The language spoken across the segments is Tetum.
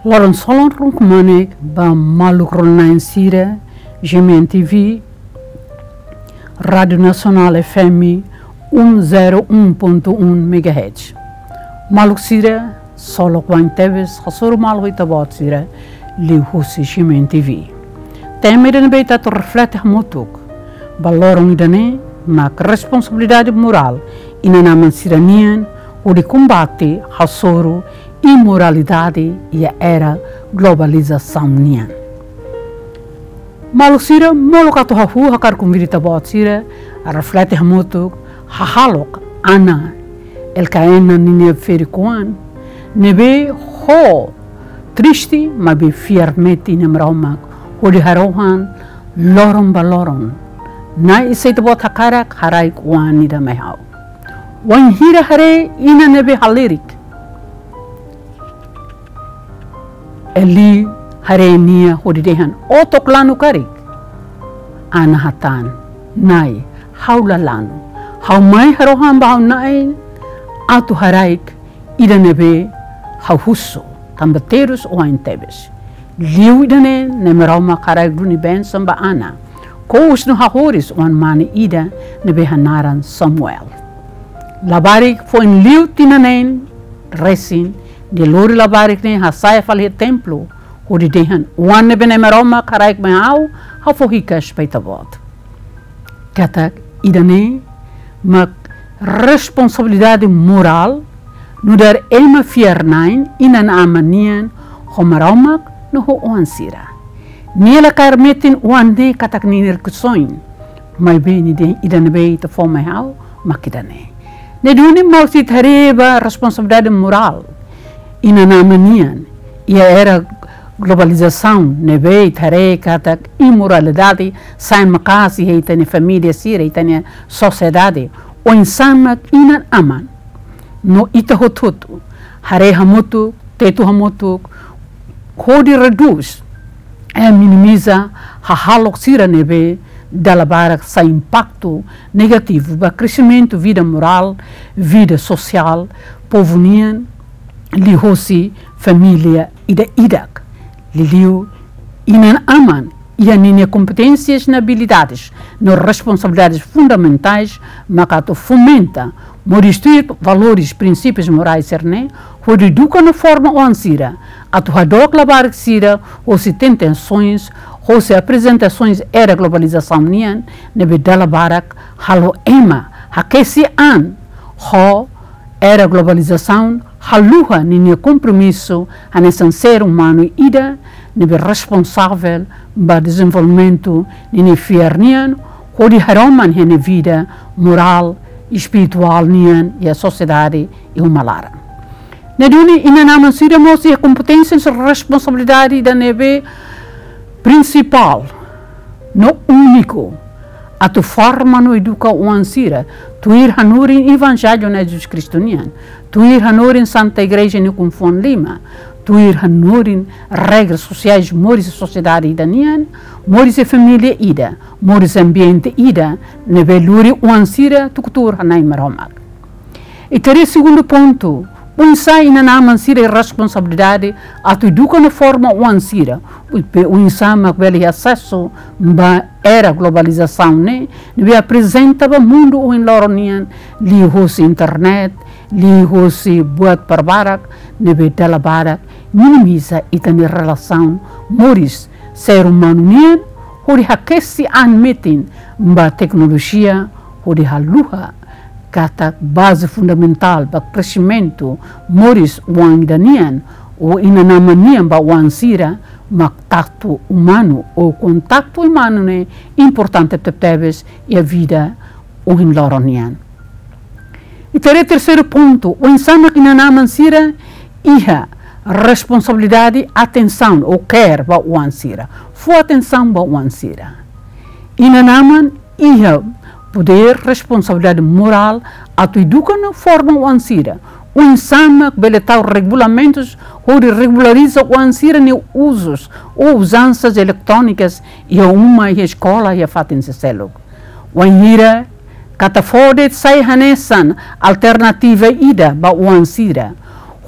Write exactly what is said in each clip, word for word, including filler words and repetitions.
Loron solan ruma kmanek ba maluk rona-na'in sira, G M N T V, Rádio Nacional F M um zero um ponto um megahertz. Maluk sira, solok wa'in tebes hasoru malu ita-boot sira liuhusi G M N T V. Tema ida ne'ebé ita atu reflete hamutuk ba loron ida-ne'e mak responsabilidade morál inan-aman sira-nian hodi kombate hasoru imoralidade iha era globalizasaun nian. Maluk sira, molok atu hahú hakarak konvida ita-boot sira reflete hamutuk hahalok Ana, Elkaena ninia ferik-oan, ne'ebé ho triste maibé fiar metin Nai Maromak hodi harohan loron ba loron: Na'i, se Ita-Boot hakarak, haraik oan ida mai ha'u. Wainhira haree inan ne'ebé halerik, Eli haree nia hodi dehan: Ó to'o lanu karik? Ana hatán: Na'i, ha'u la lanu. Ha'u mai harohan ba ha'u Na'i atu haraik ida ne'ebé ha'u husu, tanba terus wa'in tebes. Liu ida-ne'e, Nai Maromak haraik duni bensaun ba Ana, kous no hahoris oan-mane ida ne'ebé hanaran Samuel. Labarik foin liu tinan neen resin, nia lori labarik ne'e hasa'e fali iha templu hodi dehan: Oan ne'ebé Nai Maromak haraik mai ha'u, ha'u fó hikas ba Ita-Boot. Katak ida-ne'e mak responsabilidade morál nu'udar ema fiar-na'in, inan-aman nian, ho Maromak no ho oan sira. Nia la kaer metin oan ne'e katak ninia rikusoin, maibé nia dehan: Ida ne'ebé Ita fó mai ha'u mak ida-ne'e. Ne'e duni, maluk sira, ita haree ba responsabilidade morál inan-aman nian iha era globalizasaun ne'ebé ita haree katak imoralidade sa'e maka'as iha ita-nia família sira, ita-nia sosiedade. Oinsá mak inan-aman no ita hotu-hotu haree hamutuk, tetu hamutuk, hodi redús, eh, minimiza hahalok sira ne'ebé dala barak sai impaktu negativu ba kresimentu vida morál, vida sosiál povu nian, liuhosi família ida-idak. Liuliu inan-aman iha ninia kompeténsias no abilidades no responsabilidades fundamentais maka atu fomenta, mós destruir valores, prinsípius morais sira-ne'e, hodi eduka no forma oan sira atu hadook labarik sira hosi tentasoens, hosi aprezentasoens era globalizasaun nian, ne'ebé dala barak halo ema hakesi an ho era globalizasaun, haluha ninia kompromisu hanesan ser umanu ida ne'ebé responsavel ba dezenvolvimentu ninia fiar nian, hodi haroman iha nia vida morál, espirituál nian iha sosiedade iha uma laran. Ne'e duni, inan-aman sira mós iha kompeténsia no responsabilidade ida ne'ebé prinsipál no úniku atu forma no eduka oan sira, tuir hanorin Evanjellu Na'i Jesus Kristu nian, tuir hanorin Santa Igreja nia ukun-fuan lima, tuir hanorin regras sosiais moris sosiedade ida nian, moris família ida, moris ambiente ida ne'ebé lori oan sira tuku tuur iha Nai Maromak. Ita haree segundu pontu, oinsá inan-aman sira iha responsabilidade atu eduka no forma oan sira, maibé oinsá mak bele asesu ba era globalizasaun ne'e, ne'ebé aprezenta ba mundu ohin loron nian liuhosi internet, liuhosi buat barbarak ne'ebé dala barak minimiza ita-nia relasaun moris ser umanu nian, hodi hakesi an metin ba teknolojia, hodi haluha katak baze fundamentál ba kresimentu moris oan ida nian, ou inan-aman nian ba oan sira, mak kontaktu umanu, ou kontaktu umanu ne'e importante tebetebes iha vida ohin loron nian. Ita haree terseiru pontu, oinsá mak inan-aman sira iha responsabilidade, atensaun ou care ba oan sira, fó atensaun ba oan sira. Inan-aman iha podér, responsabilidade morál atu eduka no forma oan sira. Oinsá mak bele tau regulamentus hodi regulariza oan sira-nia uzus ou uzansas eletrónikas iha uma, iha eskola, iha fatin seluseluk. Wainhira katak fó de'it sai hanesan alternativa ida ba oan sira,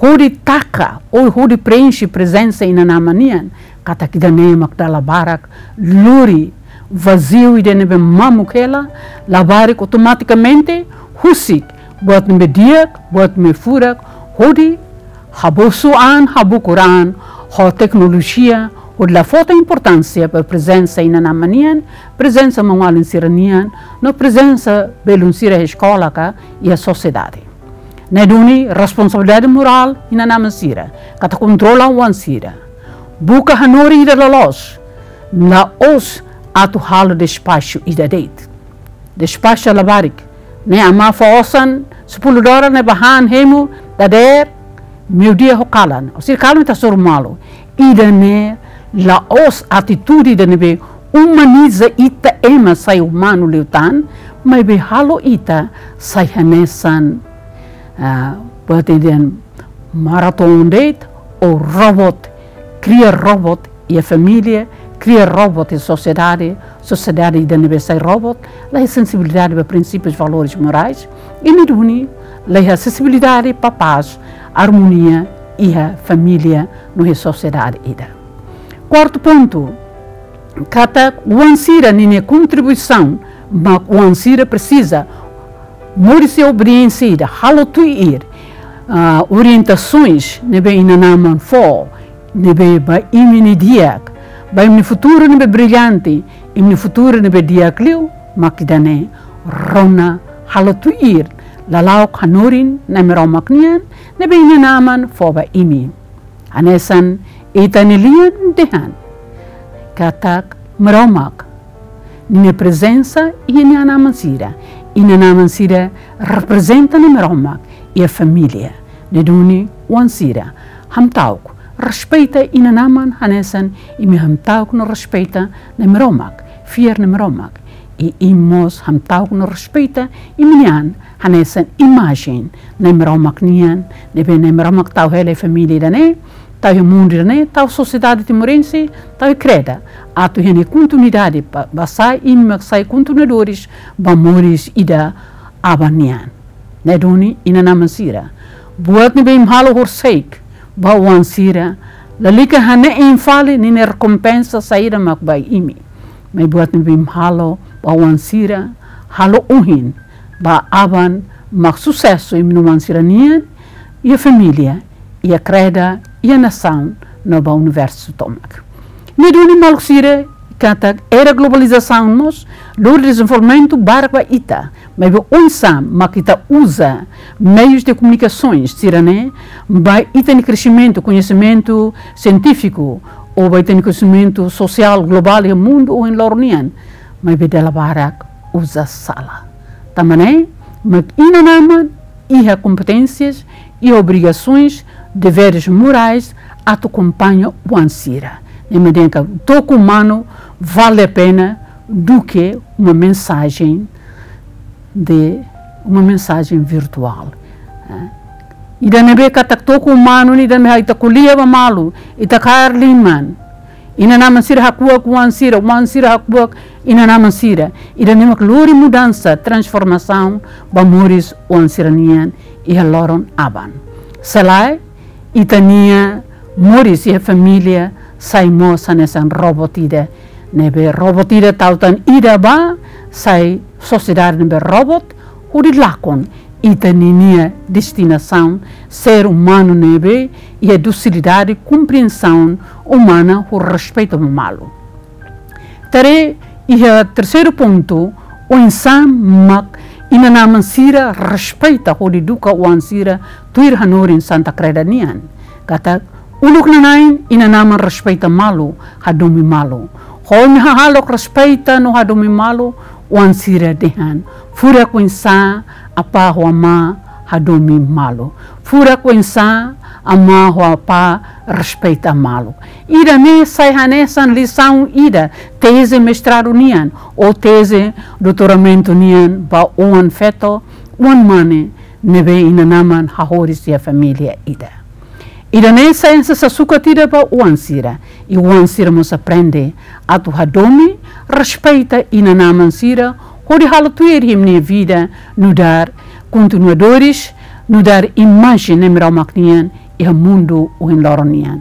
hodi taka ou hodi preenxe prezensa inan-aman nian, katak ida-ne'e mak dala barak lori vaziu ida ne'ebé mamuk hela, labarik automatikamente husik buat ne'ebé di'ak, buat ne'ebé furak, hodi habosu an, habukur an ho teknolojia, hodi la fó tan importánsia ba prezensa inan-aman nian, prezensa maun-alin sira-nian, no prezensa belun sira iha eskola ka iha sosiedade. Ne'e duni responsabilidade morál inan-aman sira, katak kontrola oan sira. Buka hanorin ida loloos, la'ós atu halo despaxu ida de'it. Despaxu labarik. Ne'e amá fó osan sepuluh dolar ne'e bá han hemu dadeer, meiudia ho kalan. Ou sira kalan ita hasoru malu. Ida-ne'e la'ós atitude ida ne'ebé umaniza ita ema sai umanu liután, maibé halo ita sai hanesan, ah, buat ida maraton de'it ou robot, kria robot iha família, kria robot iha sosiedade, sosiedade ida ne'ebé sai robot, la iha sensibilidade ba prinsípius, valores morais, i ne'e duni la iha sensibilidade ba pás, armonia iha família no iha sosiedade ida. Kuartu pontu, katak oan sira ninia kontribuisaun, mak oan sira presiza moris iha obediénsia ida, halo tuir, ah, orientasoens ne'ebé inan-aman fó, ne'ebé ba imi-nia di'ak, ba imi-nia futuru ne'ebé brillante, imi-nia futuru ne'ebé di'ak liu, mak ida-ne'e rona halo tuir lala'ok hanorin Nai Maromak nian, ne'ebé inan-aman fó ba imi. Hanesan ita-nia lian dehan katak Maromak ninia prezensa iha inan-aman sira. Inan-aman sira reprezenta Nai Maromak iha família. Ne'e duni oan sira, hamta'uk respeita inan-aman hanesan imi hamta'uk no respeita Nai Maromak, fiar Nai Maromak. I imi mós hamta'uk no respeita imi-nia an hanesan imajen Nai Maromak nian, ne'ebé Nai Maromak tau hela iha família ida-ne'e, tau iha mundu ida-ne'e, tau sosiedade timorense, tau iha kreda. Atu iha nia kontinuidade ba, ba sai, imi mak sai kontinuadores ba moris ida aban nian. Ne'e duni inan-aman sira, buat ne'ebé imi halo horisehik ba oan sira, lalika hane'e imi fali ninia rekompensa saida mak ba imi. Maibé buat ne'ebé imi halo ba oan sira, halo ohin ba aban, mak susesu imi-nia oan sira-nian, iha família, iha kreda, iha nasaun, no ba universu tomak. Ne'e duni maluk sira, katak era globalizasaun mós lori dezenvolvimentu barak ba ita, maibé oinsá mak ita uza meius de komunikasoens sira-ne'e ba ita-nia kresimentu, koñesimentu sientífiku, ou ba ita-nia koñesimentu sosiál globál iha mundu ohin loron nian, maibé dala barak uza sala. Tanba ne'e mak inan-aman iha kompeténsias, iha obrigasoens, deveres morais atu akompaña oan sira. Ne'e mak dehan katak toku umanu vale a pena duké uma mensajen de, uma mensajen virtuál. Eh, ida ne'ebé katak toku umanu ne'e ida ne'ebé ita ko'alia ba malu, ita kaer liman. Inan-aman sira hakuak oan sira, oan sira hakuak inan-aman sira. Ida-ne'e mak lori mudansa, transformasaun ba moris oan sira-nian iha loron aban. Se lae, ita-nia moris iha família sai mós hanesan robot ida, ne'ebé robot ida tau tan ida bá, sai sosiedade ne'ebé robot, hodi lakon ita ninia destinasaun, ser umanu ne'ebé iha dusilidade, kompriensaun umana ho respeitu ba malu. Entaun iha terseiru pontu, oinsá mak inan-aman sira respeita hodi eduka oan sira tuir hanorin Santa Kreda nian. Katak uluk nanain inan-aman respeita malu, hadomi malu. Ho imi hahalok respeita no hadomi malu, oan sira dehan: furak oinsá apá ho amá hadomi malu. Furak oinsá amá ho apá respeita malu. Ida-ne'e sai hanesan lisaun ida teze mestradu nian, ou teze doutoramentu nian ba oan feto, oan mane, ne'ebé inan-aman hahoris iha família ida. Ida-ne'e sai hanesan sasukat ida ba oan sira, i oan sira mós aprende atu hadomi, respeita inan-aman sira, hodi halo tuir iha imi-nia vida, nu'udar kontinuadores, nu'udar imajen Nai Maromak nian iha mundu ohin loron nian.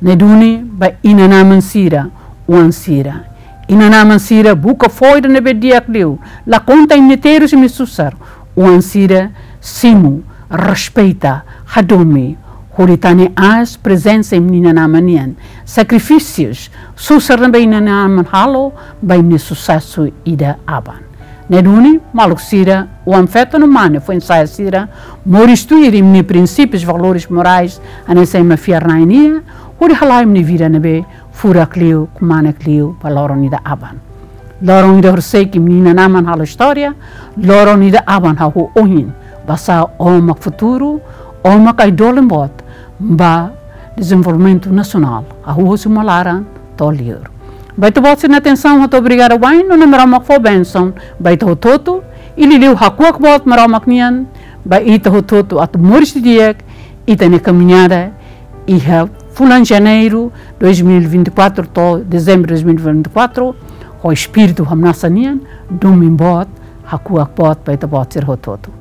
Ne'e duni ba inan-aman sira, oan sira. Inan-aman sira, buka fó ida ne'ebé di'ak liu, la konta imi-nia terus, imi-nia susar. Oan sira, simu, respeita, hadomi, hodi tane aas prezensa imi-nia inan-aman nian, sakrifísius, susar ne'ebé inan-aman halo ba imi-nia susesu ida aban. Ne'e duni, maluk sira, oan-feto no mane foin-sa'e sira, moris tuir imi-nia prinsípius, valores morais, hanesan ema fiar-na'in nian, hodi hala'o imi-nia vida ne'ebé furak liu, kmanek liu ba loron ida aban. Loron ida horisehik imi-nia inan-aman halo istória, loron ida aban hahú ohin, basá ó mak futuru, ó mak ai-dolin boot ba dezenvolvimentu nasionál, hahú husi uma laran to'o liur. Ba ita-boot sira-nia atensaun, ha'u hato'o obrigada wa'in, no Na'i Maromak fó bensaun ba ita hotu-hotu, i liuliu hakuak boot Maromak nian ba ita hotu-hotu atu moris didi'ak ita-nia kamiñada iha fulan Janeiru dois mil e vinte e quatro to'o Dezembru dois mil e vinte e quatro, ho espíritu hamnasa nian, domin boot, hakuak boot ba ita-boot sira hotu-hotu.